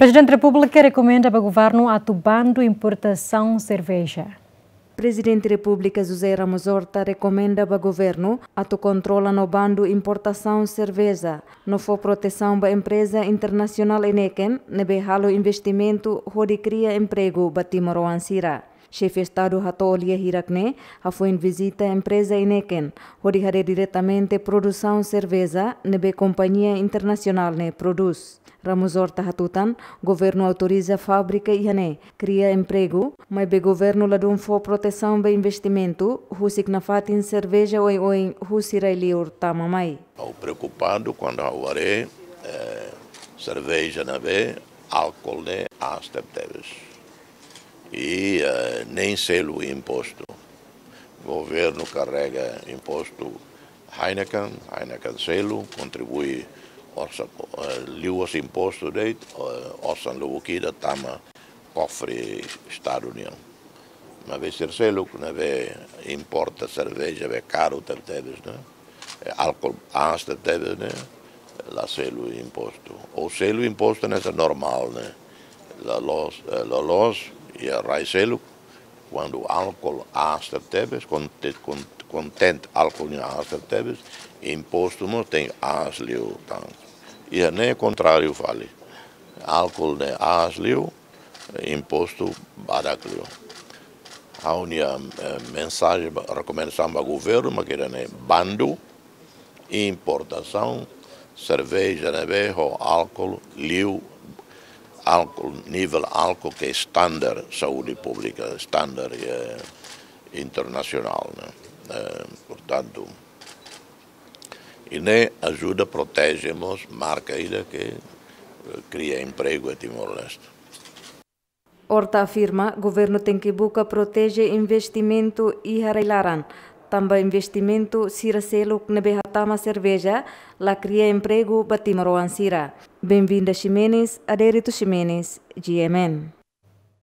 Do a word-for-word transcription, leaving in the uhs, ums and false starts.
Prezidente Repúblika rekomenda ba governu atu bandu importasaun serveja. Prezidente Repúblika José Ramos Horta rekomenda ba governu atu kontrola no bandu importasaun serveja, no fó protesaun ba empreza internasionál neineik ne'ebé halo investimentu hodi kria empregu ba timoroan sira. Xefe Estadu hato'o lia hirak ne'e hafoin vizita empreza neineik hodi haree diretamente produsaun serveja ne'ebé kompañia internasionál ne'e prodús. Ramos Horta hatutan, governu autoriza fábrika iha ne'e, kria empregu, maibé governu ladún fó protesaun ba investimentu husik nafatin serveja oioin husi rai-liur tama mai. Ha'u preokupadu kuandu ha'u haree, eh, serveja ne'ebé álkol ne'e aas tebetebes. I, eh, nein selu impostu. Governu karrega impostu Heineken, Heineken selu, kontribui orsa-, eh, liuhusi impostu de'it, eh, osan lubuk ida tama kofre Estadu nian. Maibé sira seluk ne'ebé importa serveja be karu tebetebes ne'e, eh, álkol aas tebetebes ne'e, la selu impostu. Ou selu impostu ne'e normál ne'e. Loloos, eh, loloos, iha rai seluk, kuandu álkol aas tebetebes, konte-, kon-, konteúdu álkol nian aas tebetebes, impostu mós tenke aas liután. Iha ne'e kontráriu fali. Álkol ne'e aas liu, impostu badak liu. Ha'u-nia, eh, mensajen ba, rekomendasaun ba governu mak ida-ne'e, bandu importasaun serveja ne'ebé ho álkol liu, álkol, nivel álkol ke standar saúde públika, standar, eh, internasionál, ne'e. Eh, portantu, i ne'e ajuda proteje mós marka ida ke, eh, kria empregu iha Timor-Leste. Horta afirma, governu tenke buka proteje investimentu iha rai-laran, tanba investimentu sira seluk ne'ebé hatama serveja, la kria empregu ba timoroan sira. Benvinda Ximenes, Adérito Ximenes, G M N.